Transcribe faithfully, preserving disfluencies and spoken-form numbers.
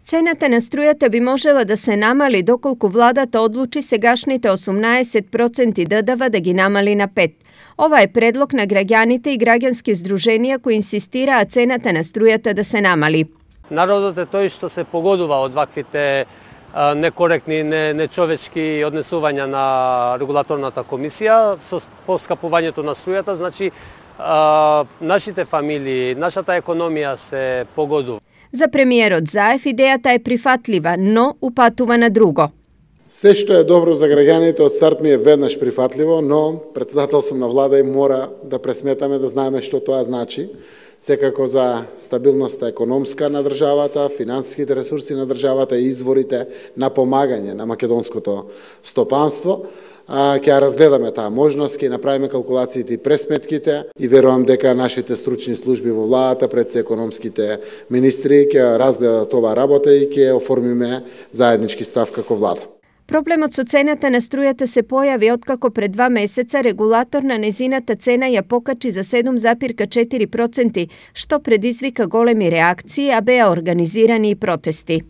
Цената на струјата би можела да се намали доколку владата одлучи сегашните осумнаесет проценти ДДВ да ги намали на пет. Ова е предлог на граѓаните и граѓански здруженија кои инсистираат цената на струјата да се намали. Народот е тој што се погодува од ваквите некоректни, не, нечовечки однесувања на регулаторната комисија со поскапувањето на струјата, значи а, нашите фамилии, нашата економија се погодува. За премиерот Заев идејата е прифатлива, но упатува на друго. Се што е добро за граѓаните од старт ми е веднаш прифатливо, но председател сум на влада и мора да пресметаме да знаеме што тоа значи. Секако за стабилноста економска на државата, финансиските ресурси на државата и изворите на помагање на македонското стопанство. Ќе разгледаме таа можност, ќе направиме калкулациите и пресметките и верувам дека нашите стручни служби во владата пред се економските министри ќе разгледат оваа работа и ќе оформиме заеднички став како влада. Проблемот со цената на струјата се појави откако пред два месеца регулатор на незината цена ја покачи за седум запирка четири проценти, што предизвика големи реакции, а беа организирани и протести.